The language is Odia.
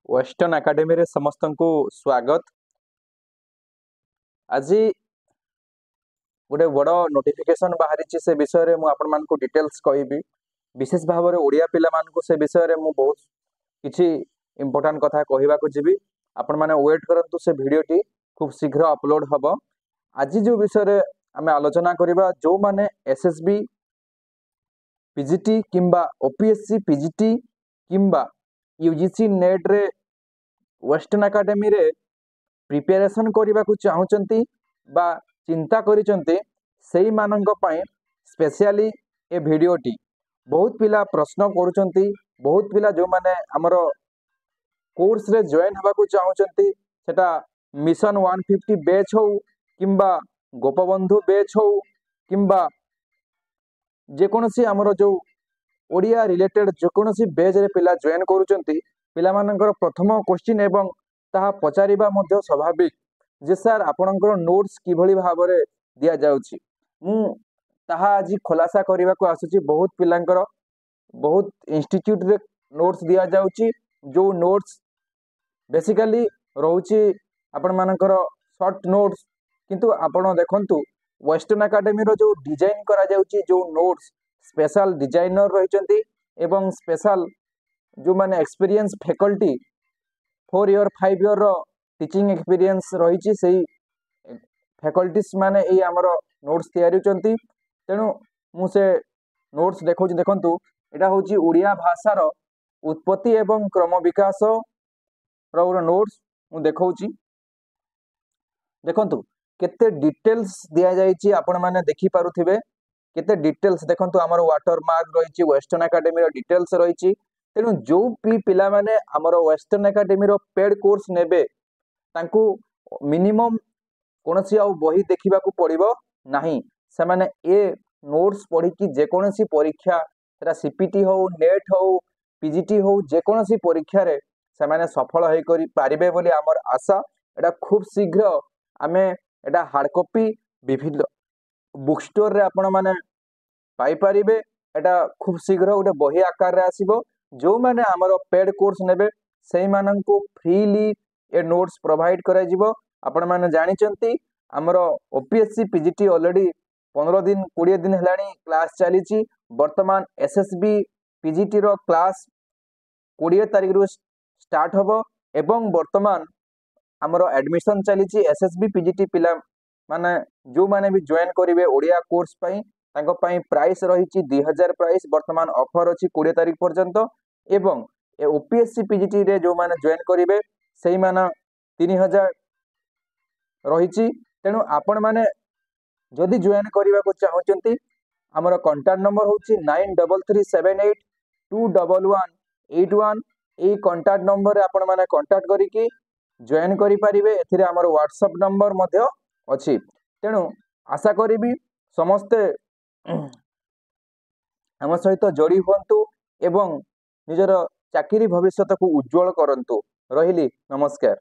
ୱେଷ୍ଟର୍ଣ୍ଣ ଏକାଡେମୀରେ ସମସ୍ତଙ୍କୁ ସ୍ୱାଗତ। ଆଜି ଗୋଟେ ବଡ଼ ନୋଟିଫିକେସନ୍ ବାହାରିଛି, ସେ ବିଷୟରେ ମୁଁ ଆପଣମାନଙ୍କୁ ଡିଟେଲ୍ସ କହିବି। ବିଶେଷ ଭାବରେ ଓଡ଼ିଆ ପିଲାମାନଙ୍କୁ ସେ ବିଷୟରେ ମୁଁ ବହୁତ କିଛି ଇମ୍ପୋର୍ଟାଣ୍ଟ କଥା କହିବାକୁ ଯିବି। ଆପଣମାନେ ୱେଟ୍ କରନ୍ତୁ, ସେ ଭିଡ଼ିଓଟି ଖୁବ୍ ଶୀଘ୍ର ଅପଲୋଡ଼ ହେବ। ଆଜି ଯେଉଁ ବିଷୟରେ ଆମେ ଆଲୋଚନା କରିବା, ଯେଉଁମାନେ ଏସ୍ ଏସ୍ ବି ପିଜିଟି କିମ୍ବା ଓପିଏସସି ପିଜିଟି କିମ୍ବା ୟୁଜିସି ନେଟ୍ରେ ୱେଷ୍ଟର୍ଣ୍ଣ ଏକାଡେମୀରେ ପ୍ରିପାରେସନ୍ କରିବାକୁ ଚାହୁଁଛନ୍ତି ବା ଚିନ୍ତା କରିଛନ୍ତି, ସେଇମାନଙ୍କ ପାଇଁ ସ୍ପେଶିଆଲି ଏ ଭିଡ଼ିଓଟି। ବହୁତ ପିଲା ପ୍ରଶ୍ନ କରୁଛନ୍ତି, ବହୁତ ପିଲା ଯେଉଁମାନେ ଆମର କୋର୍ସରେ ଜଏନ୍ ହେବାକୁ ଚାହୁଁଛନ୍ତି, ସେଟା ମିଶନ 150 ବେଚ୍ ହଉ କିମ୍ବା ଗୋପବନ୍ଧୁ ବେଚ୍ ହଉ କିମ୍ବା ଯେକୌଣସି ଆମର ଯେଉଁ ଓଡ଼ିଆ ରିଲେଟେଡ୍ ଯେକୌଣସି ବେଚ୍ରେ ପିଲା ଜଏନ୍ କରୁଛନ୍ତି, ପିଲାମାନଙ୍କର ପ୍ରଥମ କୋଶ୍ଚିନ୍ ଏବଂ ତାହା ପଚାରିବା ମଧ୍ୟ ସ୍ୱାଭାବିକ ଯେ ସାର୍, ଆପଣଙ୍କର ନୋଟ୍ସ କିଭଳି ଭାବରେ ଦିଆଯାଉଛି? ମୁଁ ତାହା ଆଜି ଖୁଲାସା କରିବାକୁ ଆସୁଛି। ବହୁତ ପିଲାଙ୍କର ବହୁତ ଇନଷ୍ଟିଚ୍ୟୁଟ୍ରେ ନୋଟ୍ସ ଦିଆଯାଉଛି, ଯେଉଁ ନୋଟ୍ସ ବେସିକାଲି ରହୁଛି ଆପଣମାନଙ୍କର ସର୍ଟ ନୋଟ୍ସ। କିନ୍ତୁ ଆପଣ ଦେଖନ୍ତୁ, ୱେଷ୍ଟର୍ଣ୍ଣ ଏକାଡେମୀର ଯେଉଁ ଡିଜାଇନ୍ କରାଯାଉଛି, ଯେଉଁ ନୋଟ୍ସ, ସ୍ପେଶାଲ ଡିଜାଇନର ରହିଛନ୍ତି ଏବଂ ସ୍ପେଶାଲ ଯେଉଁମାନେ ଏକ୍ସପିରିଏନ୍ସ ଫ୍ୟାକଲ୍ଟି, 4 ଇୟର୍ 5 ଇୟର୍ର ଟିଚିଂ ଏକ୍ସପିରିଏନ୍ସ ରହିଛି, ସେଇ ଫ୍ୟାକଲ୍ଟିସ୍ ମାନେ ଏଇ ଆମର ନୋଟ୍ସ ତିଆରିଛନ୍ତି। ତେଣୁ ମୁଁ ସେ ନୋଟ୍ସ ଦେଖାଉଛି। ଦେଖନ୍ତୁ, ଏଇଟା ହେଉଛି ଓଡ଼ିଆ ଭାଷାର ଉତ୍ପତ୍ତି ଏବଂ କ୍ରମ ବିକାଶର ଗୋଟେ ନୋଟ୍ସ ମୁଁ ଦେଖାଉଛି। ଦେଖନ୍ତୁ, କେତେ ଡିଟେଲ୍ସ ଦିଆଯାଇଛି, ଆପଣମାନେ ଦେଖିପାରୁଥିବେ କେତେ ଡିଟେଲ୍ସ। ଦେଖନ୍ତୁ, ଆମର ୱାଟର ମାର୍କ ରହିଛି, ୱେଷ୍ଟର୍ଣ୍ଣ ଏକାଡେମୀର ଡିଟେଲ୍ସ ରହିଛି। ତେଣୁ ଯେଉଁ ବି ପିଲାମାନେ ଆମର ୱେଷ୍ଟର୍ଣ୍ଣ ଏକାଡେମୀର ପେଡ୍ କୋର୍ସ ନେବେ, ତାଙ୍କୁ ମିନିମମ୍ କୌଣସି ଆଉ ବହି ଦେଖିବାକୁ ପଡ଼ିବ ନାହିଁ। ସେମାନେ ଏ ନୋଟ୍ସ ପଢ଼ିକି ଯେକୌଣସି ପରୀକ୍ଷା, ସେଟା ସିପିଟି ହଉ, ନେଟ୍ ହଉ, ପିଜିଟି ହଉ, ଯେକୌଣସି ପରୀକ୍ଷାରେ ସେମାନେ ସଫଳ ହେଇକରି ପାରିବେ ବୋଲି ଆମର ଆଶା। ଏଇଟା ଖୁବ୍ ଶୀଘ୍ର ଆମେ ଏଇଟା ହାର୍ଡ଼ କପି ବିଭିନ୍ନ ବୁକ୍ ଷ୍ଟୋରରେ ଆପଣମାନେ ପାଇପାରିବେ। ଏଇଟା ଖୁବ୍ ଶୀଘ୍ର ଗୋଟେ ବହି ଆକାରରେ ଆସିବ। ଯେଉଁମାନେ ଆମର ପେଡ୍ କୋର୍ସ ନେବେ, ସେଇମାନଙ୍କୁ ଫ୍ରିଲି ଏ ନୋଟ୍ସ ପ୍ରୋଭାଇଡ଼ କରାଯିବ। ଆପଣମାନେ ଜାଣିଛନ୍ତି, ଆମର ଓପିଏସସି ପିଜିଟି ଅଲରେଡ଼ି 15 ଦିନ 20 ଦିନ ହେଲାଣି କ୍ଲାସ୍ ଚାଲିଛି। ବର୍ତ୍ତମାନ ଏସ୍ ଏସ୍ ବି ପିଜିଟିର କ୍ଲାସ୍ 20 ତାରିଖରୁ ଷ୍ଟାର୍ଟ ହେବ ଏବଂ ବର୍ତ୍ତମାନ ଆମର ଆଡ଼ମିସନ୍ ଚାଲିଛି। ଏସ୍ ଏସ୍ ବି ପିଜିଟି ପିଲାମାନେ ଯେଉଁମାନେ ବି ଜଏନ୍ କରିବେ ଓଡ଼ିଆ କୋର୍ସ ପାଇଁ, ତାଙ୍କ ପାଇଁ ପ୍ରାଇସ୍ ରହିଛି 2000 ପ୍ରାଇସ୍। ବର୍ତ୍ତମାନ ଅଫର୍ ଅଛି 20 ତାରିଖ ପର୍ଯ୍ୟନ୍ତ। ଏବଂ ଏ ଓପିଏସସି ପିଜିଟିରେ ଯେଉଁମାନେ ଜଏନ୍ କରିବେ, ସେଇମାନେ 3000 ରହିଛି। ତେଣୁ ଆପଣମାନେ ଯଦି ଜଏନ୍ କରିବାକୁ ଚାହୁଁଛନ୍ତି, ଆମର କଣ୍ଟାକ୍ଟ ନମ୍ବର ହେଉଛି 9337821181। ଏଇ କଣ୍ଟାକ୍ଟ ନମ୍ବରରେ ଆପଣମାନେ କଣ୍ଟାକ୍ଟ କରିକି ଜଏନ୍ କରିପାରିବେ। ଏଥିରେ ଆମର ହ୍ୱାଟ୍ସଆପ୍ ନମ୍ବର ମଧ୍ୟ ଅଛି। ତେଣୁ ଆଶା କରିବି, ସମସ୍ତେ ଆମ ସହିତ ଯୋଡ଼ି ହୁଅନ୍ତୁ ଏବଂ ନିଜର ଚାକିରି ଭବିଷ୍ୟତକୁ ଉଜ୍ଜଳ କରନ୍ତୁ। ରହିଲି, ନମସ୍କାର।